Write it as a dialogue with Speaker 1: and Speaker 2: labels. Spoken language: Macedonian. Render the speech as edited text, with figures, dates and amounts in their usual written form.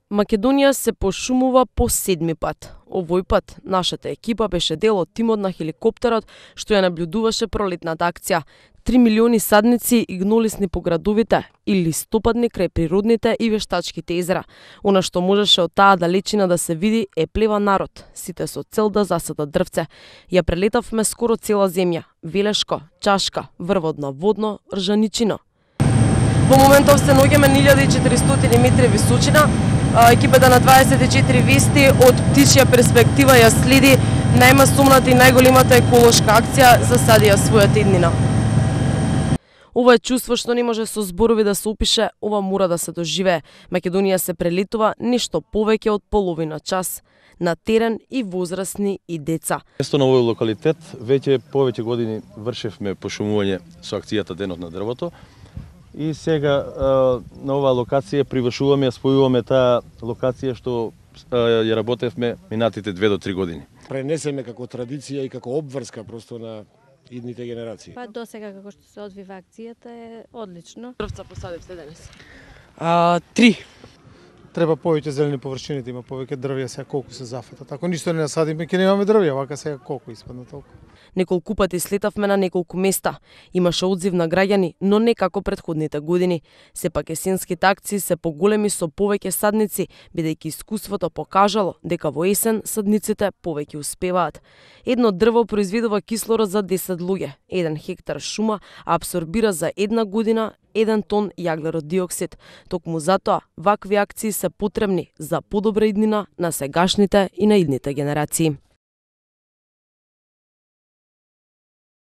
Speaker 1: Македонија се пошумува по 7-ми пат. Овој пат нашата екипа беше дел од тимот на хеликоптерот што ја наблюдуваше пролетната акција. 3 милиони садници и гнолисни по градовите и листопадни крај природните и вештачките езера. Она што можеше од таа далечина да се види е плева народ, сите со цел да засадат дрвце. Ја прелетавме скоро цела земја, Велешко, Чашка, Врводно, Водно, Ржаничино. Во моментов се наоѓаме на 1400 метри височина. Екипата на 24 вести од птичја перспектива ја следи најмасовната и најголемата еколошка акција за садија својата иднина. Ова е чувство што не може со зборови да се опише, ова мора да се доживее. Македонија се прелетува нешто повеќе од половина час на терен и возрастни и деца.
Speaker 2: Место на овој локалитет веќе повеќе години вршевме пошумување со акцијата Денот на дрвото. И сега на оваа локација привршуваме, ја спојуваме таа локација што ја работевме минатите 2 до 3 години.
Speaker 3: Пренесеме како традиција и како обврска просто на идните генерации.
Speaker 4: Па до сега како што се одвива акцијата е одлично.
Speaker 1: Дрвца посадивте денес?
Speaker 5: 3. Треба повеќе зелени површини, да има повеќе дрвја, сега колку се зафатат. Ако ништо не насадиме, ќе немаме дрвја, вака сега колку испадна толку.
Speaker 1: Неколку пати слетавме на неколку места. Имаше одзив на граѓани, но не како претходните години. Сепак есенските акции се поголеми со повеќе садници, бидејќи искуството покажало дека во есен садниците повеќе успеваат. Едно дрво произведува кислород за 10 луѓе, 1 хектар шума апсорбира за 1 година 1 тон јаглерод-диоксид. Токму затоа вакви акции се потребни за подобра иднина на сегашните и на идните генерации.